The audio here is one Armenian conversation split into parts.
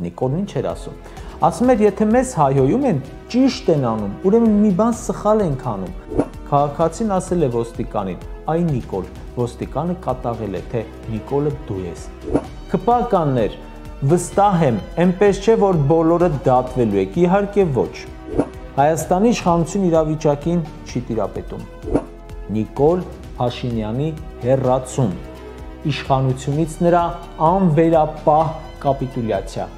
Նիկոլն ինչ էր ասում։ Ասում էր, եթե մեզ հայհոյում են, ճիշտ են անում, ուրեմն մի բան սխալ ենք անում։ Քաղաքացին ասել է ոստիկանին. «Այ Նիկոլ», ոստիկանը կատաղել է, թե Նիկոլը դու ես։ Քպականներ, վստահ եմ, այնպես չէ, որ բոլորը դատվելու եք, իհարկե ոչ։ Հայաստանի իշխանություն իրավիճակին չի տիրապետում։ Նիկոլ Փաշինյանի հեռացում, իշխանությունից նրա անվերապահ կապիտուլյացիա։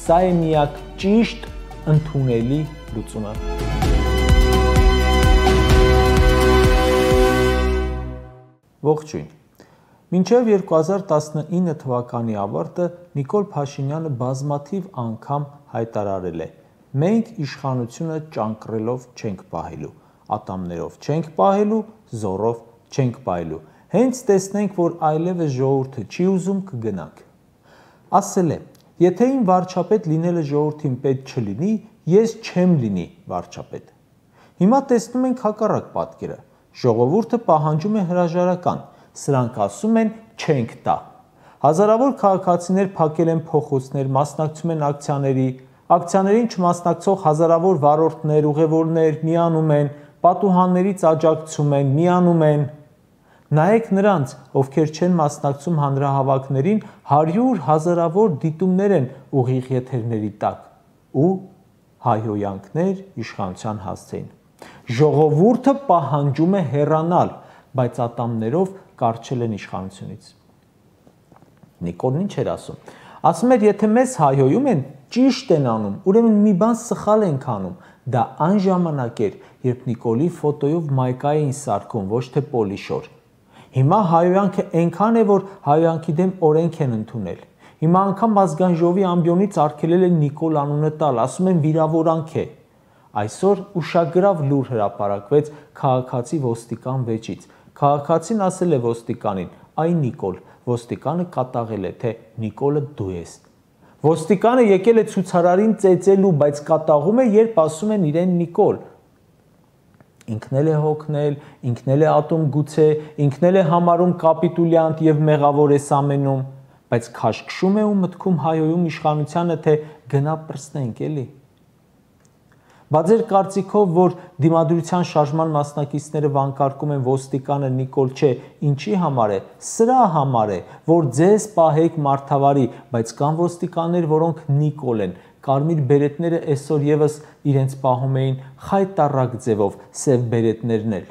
Սա է միակ ճիշտ ընդունելի լուծումը։ Ողջույն։ Մինչև 2019 թվականի ավարտը Նիկոլ Փաշինյանը բազմաթիվ անգամ հայտարարել է. մենք իշխանությունը ճանկռելով չենք պահելու, ատամներով չենք պահելու, զորով չենք պահելու։ Հենց տեսնենք, որ այլևս ժողովուրդը չի ուզում, կգնանք։ Ասել է. եթե իմ վարչապետ լինելը ժողովրդին պետք չլինի, ես չեմ լինի վարչապետ։ Հիմա տեսնում ենք հակառակ պատկերը։ Ժողովուրդը պահանջում է հրաժարական, սրանք ասում են չենք տա։ Հազարավոր քաղաքացիներ փակել են փողոցներ, մասնակցում են ակցիաներին չմասնակցող հազարավոր վարորդներ, ուղևորներ միանում են, պատուհաններից աջակցում են, միանում են։ Նայեք նրանց, ովքեր չեն մասնակցում հանրահավաքներին, 100 հազարավոր դիտումներ են ուղիղ եթերների տակ ու հայհոյանքներ իշխանության հասցեին։ Ժողովուրդը պահանջում է հեռանալ, բայց ատամներով կառչել են իշխանությունից։ Նիկոլն ինչ էր ասում։ Ասում էր, եթե մեզ հայհոյում են, ճիշտ են անում, ուրեմն մի բան սխալ ենք անում։ Դա այն ժամանակ էր, երբ Նիկոլի ֆոտոյով մայկա էին սարքում, ոչ թե պոլիշոր։ Հիմա հայհոյանքը այնքան է, որ հայհոյանքի դեմ օրենք են ընդունել։ Հիմա անգամ ազգային ժողովի ամբիոնից արգելել են Նիկոլ անունը տալ, ասում են վիրավորանք է։ Այսօր ուշագրավ լուր հրապարակվեց քաղաքացի ոստիկան վեճից։ Քաղաքացին ասել է ոստիկանին. «Այ Նիկոլ», ոստիկանը կատաղել է, թե Նիկոլը դու ես։ Ոստիկանը եկել է ցուցարարին ծեծելու, բայց կատաղում է, երբ ասում են իրեն Նիկոլ։ Ինքն էլ է հոգնել, ինքն էլ է ատում գուցե, ինքն էլ է համարում կապիտուլյանտ եւ մեղավոր էս ամենում, բայց քաշքշում է ու մտքում հայոյում իշխանությանը, թե գնա պրծնենք էլի։ Բա ձեր կարծիքով, որ դիմադրության շարժման մասնակիցները վանկարկում են ոստիկանը Նիկոլ չէ, ինչի համար է։ Սրա համար է, որ ձեզ պահեք մարդավարի, բայց կան ոստիկաններ, որոնք Նիկոլ են։ Կարմիր բերետները այսօր եւս իրենց պահում էին խայտառակ ձևով, սև բերետներն էլ։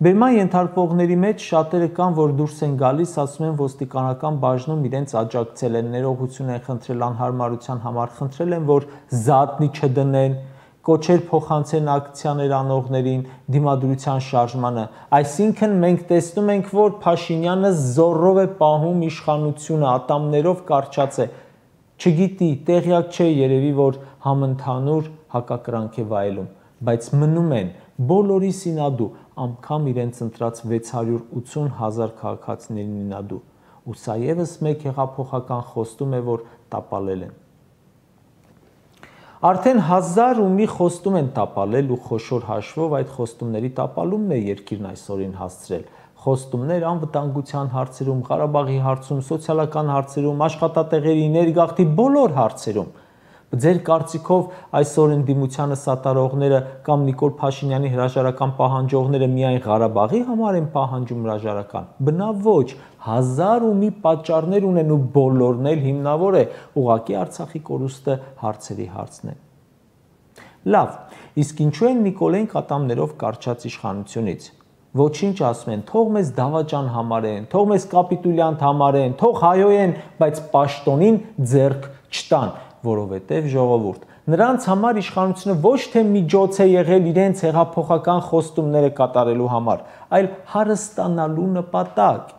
Բերման ենթարկվողների մեջ շատերը կան, որ դուրս են գալիս, ասում են ոստիկանական բաժնում իրենց աջակցել են, ներողություն են խնդրել անհարմարության համար, խնդրել են, որ զատնի չդնեն, կոչեր փոխանցեն ակցիաներ անողներին, դիմադրության շարժմանը։ Այսինքն մենք տեսնում ենք, որ Փաշինյանը զորով է պահում իշխանությունը, ատամներով կարճած է։ Չգիտի, տեղյակ չէ երևի, որ համընդհանուր հակակրանք է վայելում, բայց մնում են բոլորի սինադու, անգամ իրենց ընտրած 680,000 քաղաքացիների նինադու, ու սա եւս մեկ հեղափոխական խոստում է, որ տապալել են։ Արդեն 1000 ու մի խոստում են տապալել ու խոշոր հաշվով այդ խոստումների տապալումն է երկիրն այսօրին հասցրել։ Խոստումներ անվտանգության հարցերում, Ղարաբաղի հարցում, սոցիալական հարցերում, աշխատատեղերի, ներգաղթի բոլոր հարցերում։ Ձեր կարծիքով այսօր ընդդիմությանը սատարողները կամ Նիկոլ Փաշինյանի հրաժարական պահանջողները միայն Ղարաբաղի համար են պահանջում հրաժարական։ Բնավ ոչ, 1000 ու մի պատճառներ ունեն ու բոլորն էլ հիմնավոր է ուղղակի Արցախի կորուստը հարցերի հարցն է։ Լավ, իսկ ինչու են Նիկոլային կատամներով կարճած իշխանությունից։ Ոչինչ ասում են, թող մեզ դավաճան համարեն, թող մեզ կապիտուլյանտ համարեն, թող հայոյեն, բայց պաշտոնին ձեռք չտան, որովհետև ժողովուրդ։ Նրանց համար իշխանությունը ոչ թե միջոց է եղել իրենց հեղափոխական խոստումները կատարելու համար, այլ հարստանալու նպատակ։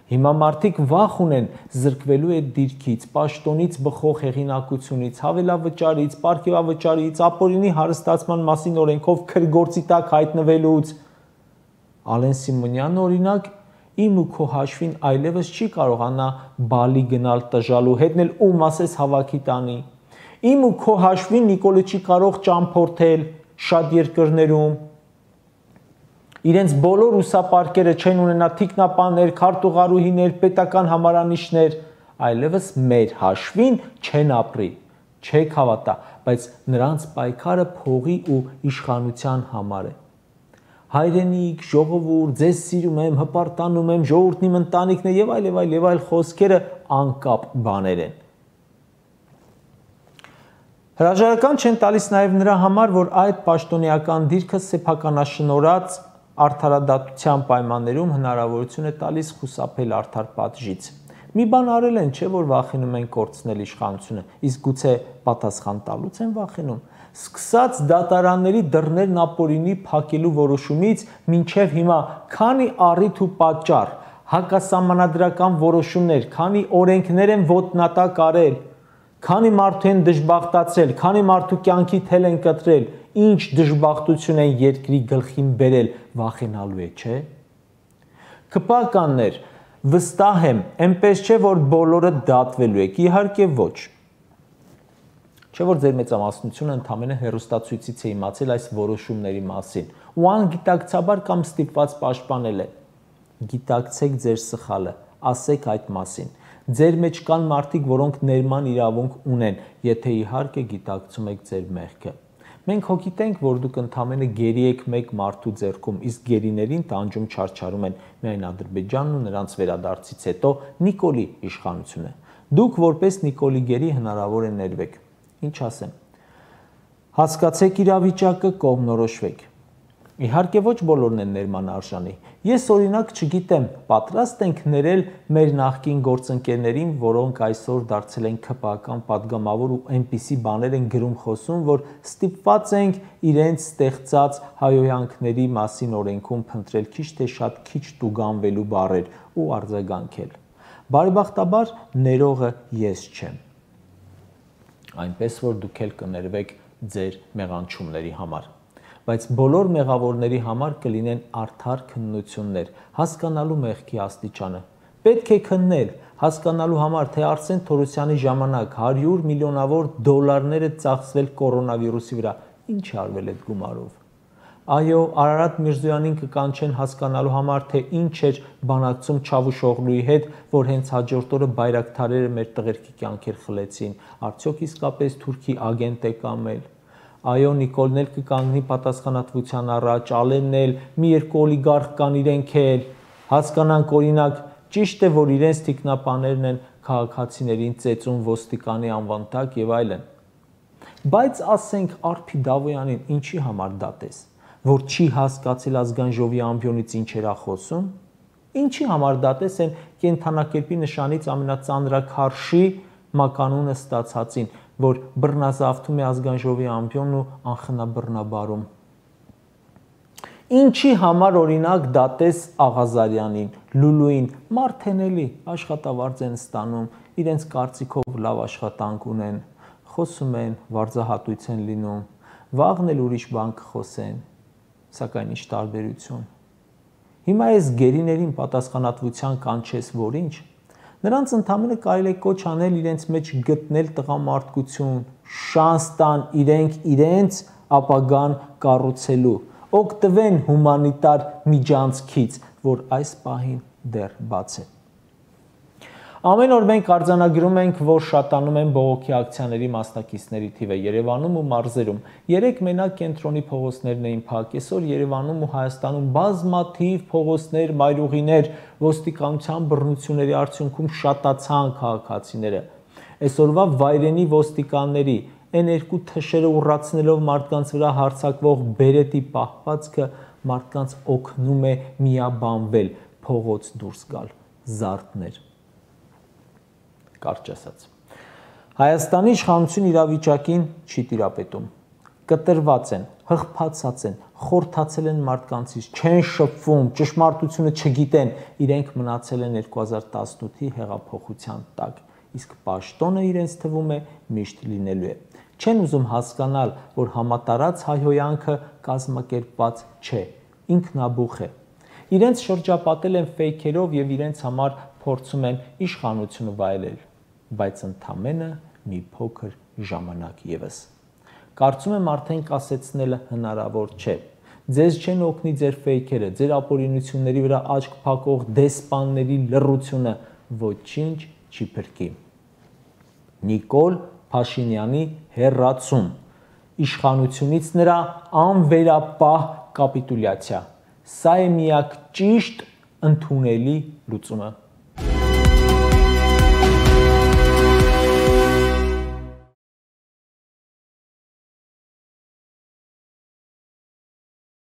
Հիմա մարդիկ վախ ունեն զրկվելու այդ դիրքից, պաշտոնից բխող հեղինակությունից, հավելավճարից, պարգևավճարից, ապօրինի հարստացման մասին օրենքով քրգործի տակ հայտնվելուց։ Ալեն Սիմոնյանը օրինակ իմ ու քո հաշվին այլևս չի կարողանա բալի գնալ տժալու, հետնել ում ասես հավաքի տանի։ Իմ ու քո հաշվին Նիկոլը չի կարող ճամփորդել շատ երկրներում։ Իրենց բոլոր ուսապարկերը չեն ունենա թիկնապաններ, քարտուղարուհիներ, պետական համարանիշներ, այլևս մեր հաշվին չեն ապրի, չեք հավատա, բայց նրանց պայքարը փողի ու իշխանության համար է։ Հայրենիք, ժողովուրդ, ձեզ սիրում եմ, հպարտանում եմ, ժողովուրդն իմ ընտանիքն է եւ այլ խոսքերը անկապ բաներ են։ Հրաժարական չեն տալիս նաև նրա համար, որ այդ պաշտոնեական դիրքը սեփականաշնորհած արդարադատության պայմաններում հնարավորություն է տալիս խուսափել արդար պատժից։ Մի բան արել են, չէ՞ որ վախենում են կորցնել իշխանությունը, իսկ գուցե պատասխան տալուց են վախենում։ Սկսած դատարանների դռներն ապօրինի փակելու որոշումից մինչև հիմա քանի առիթ ու պատճառ, հակասահմանադրական որոշումներ, քանի օրենքներ են ոտնատակ արել, քանի մարդու են դժբախտացրել, քանի մարդու կյանքի թել են կտրել, ինչ դժբախտություն են երկրի գլխին բերել, վախենալու է, չէ՞։ Քպականներ, վստահ եմ, այնպես չէ, որ բոլորը դատվելու եք, իհարկե ոչ։ Չէ՞ որ ձեր մեծամասնությունը ընդամենը հեռուստացույցից է իմացել այս որոշումների մասին ու անգիտակցաբար կամ ստիպված պաշտպանել է։ Գիտակցեք ձեր սխալը, ասեք այդ մասին։ Ձեր մեջ կան մարդիկ, որոնք ներման իրավունք ունեն, եթե իհարկե գիտակցում եք ձեր մեղքը։ Մենք հոգիտենք, որ դուք ընդամենը գերի եք մեկ մարդու ձեռքում, իսկ գերիներին տանջում չարչարում են միայն Ադրբեջանն ու նրանց վերադարձից հետո Նիկոլի իշխանությունը։ Դուք որպես Նիկոլի գերի հնարավոր է ներվեք։ Ինչ ասեմ։ Հասկացեք իրավիճակը, կողմնորոշվեք։ Իհարկե ոչ բոլորն են ներման արժանի։ Ես օրինակ չգիտեմ, պատրաստ ենք ներել մեր նախկին գործընկերներին, որոնք այսօր դարձել են քպական падգամավոր ու այնպիսի բաներ են գրում խոսում, որ ստիպված ենք իրենց ստեղծած հայհոյանքների մասին օրենքում փնտրել քիչ թե շատ քիչ տուգանվելու բառեր ու արձագանքել։ Բարեբախտաբար ներողը ես չեմ։ Այնպես որ դուք էլ կներվեք ձեր մեղանչումների համար, բայց բոլոր մեղավորների համար կլինեն արդար քննություններ, հասկանալու մեղքի աստիճանը։ Պետք է քննել, հասկանալու համար, թե Արսեն Թորոսյանի ժամանակ 100 միլիոնավոր դոլարներ է ծախսվել կորոնավիրուսի վրա, ինչ է արվել այդ գումարով։ Այո, Արարատ Միրզոյանին կկանչեն հասկանալու համար, թե ինչ էր բանակցում Չավուշօղլուի հետ, որ հենց հաջորդ օրը բայրակթարերը մեր տղերքի կյանքեր խլեցին, արդյոք իսկապես թուրքի ագենտ է կամ էլ։ Այո, Նիկոլն էլ կկանգնի պատասխանատվության առաջ, Ալենն էլ, մի երկու օլիգարխ կան իրենք էլ, հասկանանք օրինակ, ճիշտ է, որ իրենց թիկնապաներն են քաղաքացիներին ծեծում ոստիկանի անվան տակ եւ այլն։ Բայց ասենք Արփի Դավոյանին ինչի համար դատես, որ չի հասկացել ազգային ժողովի ամբիոնից ինչեր է խոսում, ինչի համար դատես են կենթանակերպի նշանից ամենածանրաքարշի մականունը ստացածին, որ բռնազավթում է ազգային ժողովի ամբիոնն ու անխնաբռնաբարում։ Ինչի համար օրինակ դատես Աղազարյանին, Լուլուին, մարդ են էլի, աշխատավարձ են ստանում, իրենց կարծիքով լավ աշխատանք ունեն, խոսում են, վարձահատույց են լինում, վաղն էլ ուրիշ բան կխոսեն, սակայն ինչ տարբերություն։ Հիմա այս գերիներին պատասխանատվության կանչես, որ ինչ, նրանց ընդամենը կարելի է կոչ անել իրենց մեջ գտնել տղամարդկություն, շանս տան իրենց ապագան կառուցելու, օգտվեն հումանիտար միջանցքից, որ այս պահին դեռ բաց է։ Ամեն օր մենք արձանագրում ենք, որ շատանում են բողոքի ակցիաների մասնակիցների թիվը Երևանում ու մարզերում։ Երեք մենակ կենտրոնի փողոցներն էին փակ, այսօր Երևանում ու Հայաստանում բազմաթիվ փողոցներ, մայրուղիներ, ոստիկանության բռնությունների արդյունքում շատացան քաղաքացիները։ Այսօրվա վայրենի ոստիկանների Այն երկու թշերը ուռացնելով մարդկանց վրա հարձակվող բերետի պահվածքը մարդկանց օգնում է միաբանվել, փողոց դուրս գալ, զարդներ։ Կարճ ասած։ Հայաստանի իշխանություն իրավիճակին չի տիրապետում։ Կտրված են, հղբացած են, խորթացել են մարդկանցից, չեն շփվում, ճշմարտությունը չգիտեն, իրենք մնացել են 2018-ի հեղափոխության տակ, իսկ պաշտոնը իրենց թվում է միշտ լինելու է։ Չեն ուզում հասկանալ, որ համատարած հայհոյանքը կազմակերպված չէ, ինքնաբուխ է։ Իրենց շրջապատել են ֆեյքերով եւ իրենց համար փորձում են իշխանությունը վայելել, բայց ընդամենը մի փոքր ժամանակ եւս։ Կարծում եմ արդեն կասեցնելը հնարավոր չէ։ Ձեզ չեն օգնի ձեր ֆեյքերը, ձեր ապօրինությունների վրա աչք փակող դեսպանների լռությունը, ոչինչ չի փրկի։ Նիկոլ Փաշինյանի հեռացում, իշխանությունից նրա անվերապահ կապիտուլյացիա, սա է միակ ճիշտ ընդունելի լուծումը։